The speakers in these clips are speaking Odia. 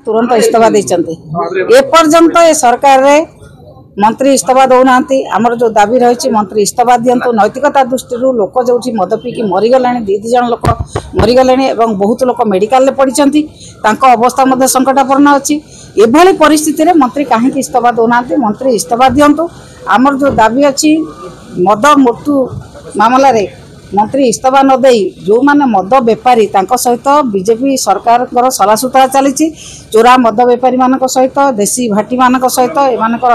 ତୁରନ୍ତ ଇସ୍ତଫା ଦେଇଛନ୍ତି। ଏପର୍ଯ୍ୟନ୍ତ ଏ ସରକାରରେ ମନ୍ତ୍ରୀ ଇସ୍ତଫା ଦେଉନାହାନ୍ତି। ଆମର ଯେଉଁ ଦାବି ରହିଛି, ମନ୍ତ୍ରୀ ଇସ୍ତଫା ଦିଅନ୍ତୁ। ନୈତିକତା ଦୃଷ୍ଟିରୁ ଲୋକ ଯେଉଁଠି ମଦ ପିଇକି ମରିଗଲେଣି, 2 2 ଜଣ ଲୋକ ମରିଗଲେଣି ଏବଂ ବହୁତ ଲୋକ ମେଡ଼ିକାଲରେ ପଡ଼ିଛନ୍ତି, ତାଙ୍କ ଅବସ୍ଥା ମଧ୍ୟ ସଙ୍କଟାପନ୍ନ ଅଛି। ଏଭଳି ପରିସ୍ଥିତିରେ ମନ୍ତ୍ରୀ କାହିଁକି ଇସ୍ତଫା ଦେଉନାହାନ୍ତି? ମନ୍ତ୍ରୀ ଇସ୍ତଫା ଦିଅନ୍ତୁ। ଆମର ଯେଉଁ ଦାବି ଅଛି, ମଦ ମୃତ୍ୟୁ ମାମଲାରେ ମନ୍ତ୍ରୀ ଇସ୍ତଫା ନ ଦେଇ ଯେଉଁମାନେ ମଦ ବେପାରୀ, ତାଙ୍କ ସହିତ ବିଜେପି ସରକାରଙ୍କର ସଲାସୁତରା ଚାଲିଛି। ଚୋରା ମଦ ବେପାରୀମାନଙ୍କ ସହିତ, ଦେଶୀ ଭାଟିମାନଙ୍କ ସହିତ ଏମାନଙ୍କର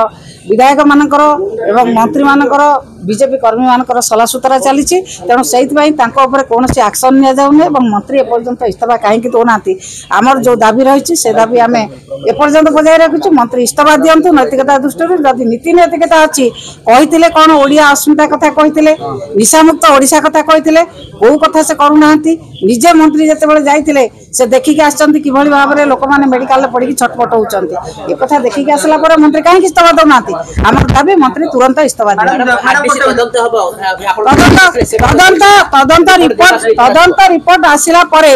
ବିଧାୟକମାନଙ୍କର ଏବଂ ମନ୍ତ୍ରୀମାନଙ୍କର, ବିଜେପି କର୍ମୀମାନଙ୍କର ସଲାସୁତରା ଚାଲିଛି। ତେଣୁ ସେଇଥିପାଇଁ ତାଙ୍କ ଉପରେ କୌଣସି ଆକ୍ସନ୍ ନିଆଯାଉନି ଏବଂ ମନ୍ତ୍ରୀ ଏପର୍ଯ୍ୟନ୍ତ ଇସ୍ତଫା କାହିଁକି ଦେଉନାହାନ୍ତି? ଆମର ଯେଉଁ ଦାବି ରହିଛି, ସେ ଦାବି ଆମେ ଏପର୍ଯ୍ୟନ୍ତ ବଜାୟ ରଖିଛୁ। ମନ୍ତ୍ରୀ ଇସ୍ତଫା ଦିଅନ୍ତୁ ନୈତିକତା ଦୃଷ୍ଟିରୁ। ଯଦି ନୀତି ନୈତିକତା ଅଛି, କହିଥିଲେ କ'ଣ? ଓଡ଼ିଆ ଅସ୍ମିତା କଥା କହିଥିଲେ, ନିଶାମୁକ୍ତ ଓଡ଼ିଶା କଥା କହିଥିଲେ, କୋଉ କଥା ସେ କରୁନାହାନ୍ତି? ନିଜେ ମନ୍ତ୍ରୀ ଯେତେବେଳେ ଯାଇଥିଲେ, ସେ ଦେଖିକି ଆସିଛନ୍ତି କିଭଳି ଭାବରେ ଲୋକମାନେ ମେଡିକାଲରେ ପଡ଼ିକି ଛଟପଟ ହେଉଛନ୍ତି। ଏ କଥା ଦେଖିକି ଆସିଲା ପରେ ମନ୍ତ୍ରୀ କାହିଁକି ଇସ୍ତଫା ଦେଉନାହାନ୍ତି? ଆମର ଦାବି, ମନ୍ତ୍ରୀ ତୁରନ୍ତ ଇସ୍ତଫା ଦିଅନ୍ତୁ। ତଦନ୍ତ ରିପୋର୍ଟ ଆସିଲା ପରେ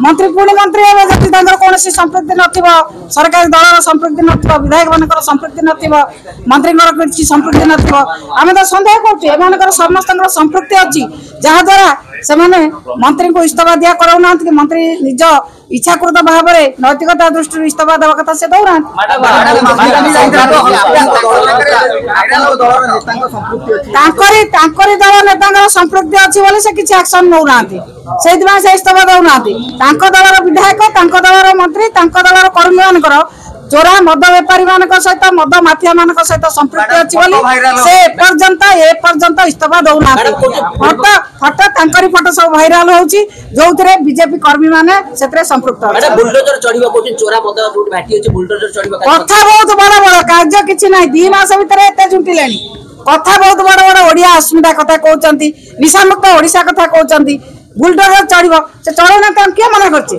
ମନ୍ତ୍ରୀ ପୁଣି ମନ୍ତ୍ରୀ ହେବେ। ଯଦି ତାଙ୍କର କୌଣସି ସମ୍ପୃକ୍ତି ନଥିବ, ସରକାରୀ ଦଳର ସମ୍ପୃକ୍ତି ନଥିବ, ବିଧାୟକ ମାନଙ୍କର ସମ୍ପୃକ୍ତି ନଥିବ, ମନ୍ତ୍ରୀଙ୍କର କିଛି ସମ୍ପୃକ୍ତି ନଥିବ, ଆମେ ତ ସନ୍ଦେହ କରୁଛୁ ଏମାନଙ୍କର ସମସ୍ତଙ୍କର ସମ୍ପୃକ୍ତି ଅଛି, ଯାହାଦ୍ୱାରା ସେମାନେ ମନ୍ତ୍ରୀଙ୍କୁ ଇସ୍ତଫା ଦିଆ କରାଉନାହାନ୍ତି କି ମନ୍ତ୍ରୀ ନିଜ ଇଚ୍ଛାକୃତ ଭାବରେ ନୈତିକତା ଦୃଷ୍ଟିରୁ ଇସ୍ତଫା ଦେବା କଥା ସେ ଦଉନାହାନ୍ତି। ତାଙ୍କରି ଦଳ ନେତାଙ୍କର ସମ୍ପୃକ୍ତି ଅଛି ବୋଲି ସେ କିଛି ଆକ୍ସନ ନେଉନାହାନ୍ତି, ସେଇଥିପାଇଁ ସେ ଇସ୍ତଫା ଦଉନାହାନ୍ତି। ତାଙ୍କ ଦଳର ବିଧାୟକ, ତାଙ୍କ ଦଳର ମନ୍ତ୍ରୀ, ତାଙ୍କ ଦଳର କର୍ମୀମାନଙ୍କର ଚୋରା ମଦ ବେପାରୀ ମାନଙ୍କ ସହିତ, ମଦ ମାଫିଆ ମାନଙ୍କ ସହିତ ସମ୍ପୃକ୍ତି ଅଛି ବୋଲି ସେ ଏପର୍ଯ୍ୟନ୍ତ ଇସ୍ତଫା ଦଉନାହାନ୍ତି। ଫଟୋ, ତାଙ୍କରି ଫଟୋ ସବୁ ଭାଇରାଲ ହଉଛି, ଯୋଉଥିରେ ବିଜେପି କର୍ମୀ ମାନେ ସେଥିରେ ସମ୍ପୃକ୍ତ। କଥା ବହୁତ ବଡ ବଡ, କାର୍ଯ୍ୟ କିଛି ନାହିଁ। 2 ମାସ ଭିତରେ ଏତେ ଝୁଣ୍ଟିଲେଣି। କଥା ବହୁତ ବଡ ବଡ, ଓଡିଆ ଅସ୍ମିତା କଥା କହୁଛନ୍ତି, ନିଶାମୁକ୍ତ ଓଡିଶା କଥା କହୁଛନ୍ତି। ବୁଲଡୋଜର ଚଢିବ, ସେ ଚଢଉନାହାନ୍ତି, ତାଙ୍କୁ କିଏ ମନା କରିଛି?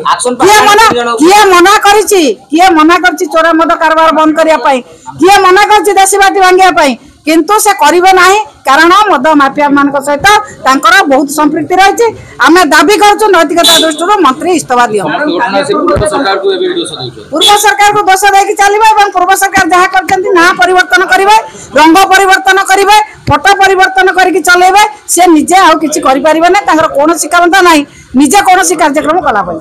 କିଏ ମନା କରିଛି? କିଏ ମନା କରିଛି ଚୋରା ମଦ କାରବାର ବନ୍ଦ କରିବା ପାଇଁ? କିଏ ମନା କରିଛି ଦେଶୀ ବାଟି ଭାଙ୍ଗିବା ପାଇଁ? କିନ୍ତୁ ସେ କରିବେ ନାହିଁ, କାରଣ ମଦ ମାଫିଆ ମାନଙ୍କ ସହିତ ତାଙ୍କର ବହୁତ ସମ୍ପୃକ୍ତି ରହିଛି। ଆମେ ଦାବି କରୁଛୁ, ନୈତିକତା ଦୃଷ୍ଟିରୁ ମନ୍ତ୍ରୀ ଇସ୍ତଫା ଦିଅନ୍ତୁ। ପୂର୍ବ ସରକାରକୁ ଦୋଷ ଦେଇକି ଚାଲିବ ଏବଂ ପୂର୍ବ ସରକାର ଯାହା କରିଛନ୍ତି, ନାଁ ପରିବର୍ତ୍ତନ କରିବେ, ରଙ୍ଗ ପରିବର୍ତ୍ତନ କରିବେ, ଫଟୋ ପରିବର୍ତ୍ତନ କରିକି ଚଲେଇବେ। ସେ ନିଜେ ଆଉ କିଛି କରିପାରିବେ ନା, ତାଙ୍କର କୌଣସି କ୍ଷମତା ନାହିଁ ନିଜେ କୌଣସି କାର୍ଯ୍ୟକ୍ରମ କଲା ପାଇଁ।